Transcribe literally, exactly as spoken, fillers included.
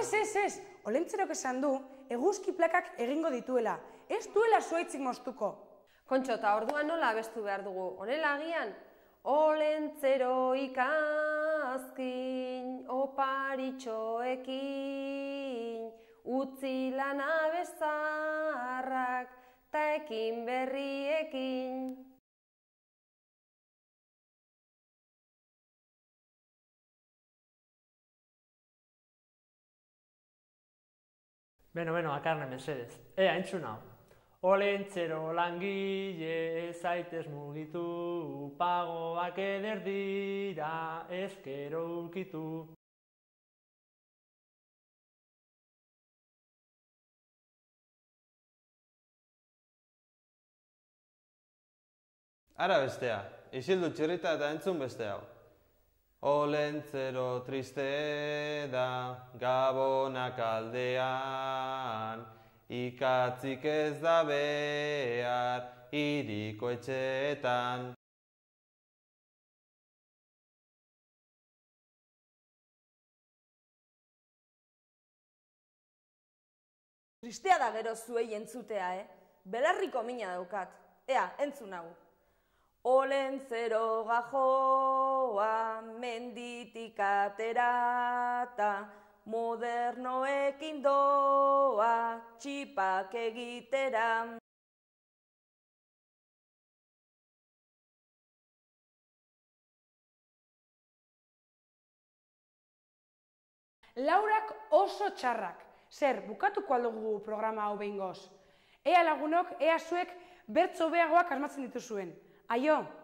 Ez, ez, ez, Olentzerok esan du eguzki plakak egingo dituela, ez duela zuaitzik moztuko. Kontxo, eta orduan nola abestu behar dugu, honela agian? Olentzero ikazkin, oparitxoekin, utzi lan abezarrak, ta ekin berriekin. Beno, beno, Akarne, mesedez. Ea, entzun hau. Olentzero langile zaitez mugitu, pagoak eder dira, eskero ukitu. Ara bestea, isildu txirrita eta entzun beste hau. Olentzero triste da, Gabonak aldean, ikatzik ez da behar, hiriko etxeetan. Tristea da gero zuei entzutea, eh? Belarriko mina daukat. Ea, entzun hau. Olentzero gajoa menditik aterata, modernoekin doa txipak egitera. Laurak oso txarrak. Zer, bukatuko aldugu programa hau behingoz. Ea lagunok, ea zuek bertso beagoak asmatzen dituzuen. Aio!